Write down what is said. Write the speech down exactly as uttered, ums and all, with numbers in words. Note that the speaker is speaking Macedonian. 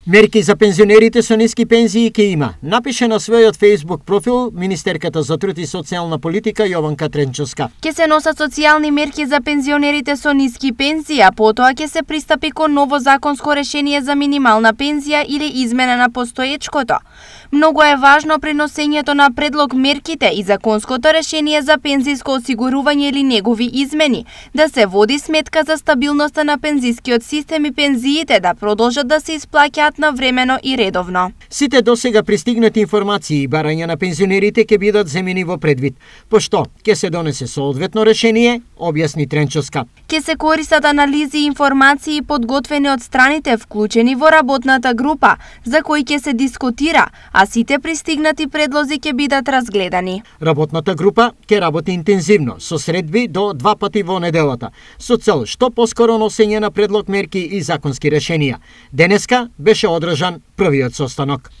Мерки за пензионерите со ниски пензии ќе има, напише на својот Facebook профил министерката за труд и социјална политика Јованка Тренчовска. Ќе се носат социјални мерки за пензионерите со ниски пензии, а потоа ќе се пристапи кон ново законско решение за минимална пензија или измена на постоечкото. Многу е важно при носењето на предлог мерките и законското решение за пензиско осигурување или негови измени, да се води сметка за стабилноста на пензискиот систем и пензиите да продолжат да се исплаќаат навремено и редовно. Сите досега пристигнати информации и барања на пензионерите ќе бидат земени во предвид, пошто ќе се донесе соодветно решение, објасни Тренчовска. Ќе се користат анализи и информации подготвени од страните вклучени во работната група, за кои ќе се дискутира, а сите пристигнати предлози ќе бидат разгледани. Работната група ќе работи интензивно, со средби до два пати во неделата, со цел што поскоро носење на предлог мерки и законски решенија. Денеска беше одржан првиот состанок.